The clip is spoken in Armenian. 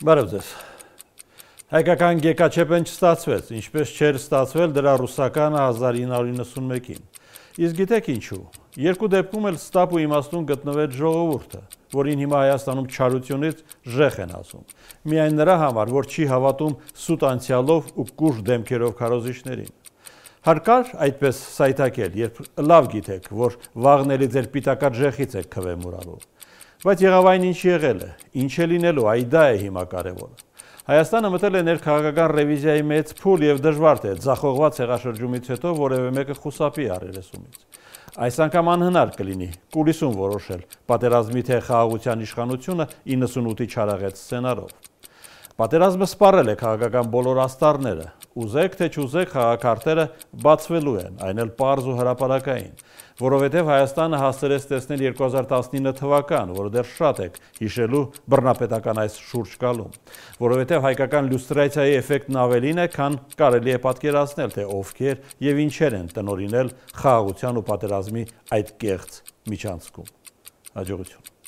Բարև ձեզ։ Հայկական գեկաչեպեն չստացվեց, ինչպես չէր ստացվել դրա ռուսականը 1991-ին։ Իսկ գիտեք ինչու։ Երկու դեպքում էլ ստապ ու իմաստուն գտնվեց ժողովուրդը, որին հիմա Հայաստանում չարությունից ժեխ են ասում։ Միայն նրա համար, որ չի հավատում սուտ անցյալով ու կուշտ դեմքերով քարոզիչներին։ Հարկար այդպես սայթակել, երբ լավ գիտեք, որ վաղն էլի ձեր պիտակած ժեխից եք քվե մուրալու։ Բայց եղավ այն ինչ եղել է, ինչ է լինելու, այ դա է հիմա կարևորը։ Հայաստանը մտել է ներքաղաքական ռևիզիայի մեծ փուլ եւ դժվար թե ձախողված հեղաշրջումից հետո որևէ մեկը խուսափի առերեսումից։ Այս անգամ անհնար կլինի կուլիսում որոշել պատերազմի թե խաղաղության իշխանությունը 98-ի չարաղետ սցենարով։ Պատերազմը սպառել է քաղաքական բոլոր աստառները, ուզեք թե չուզեք խաղաքարտերը բացվելու են, այն էլ պարզ ու հրապարակային, որովհետև Հայաստանը հասցրեց տեսնել 2019 թվական, որը դեռ շատ եք հիշելու բռնապետական այս շուրջ գալում, որովհետև հայկական լյուստրացիայի էֆեկտն ավելին է, քան կարելի է պատկերացնել, թե ովքեր եւ ինչեր են տնօրինել խաղաղության ու պատերազմի այդ կեղծ միջանցքում։ Հաջողություն։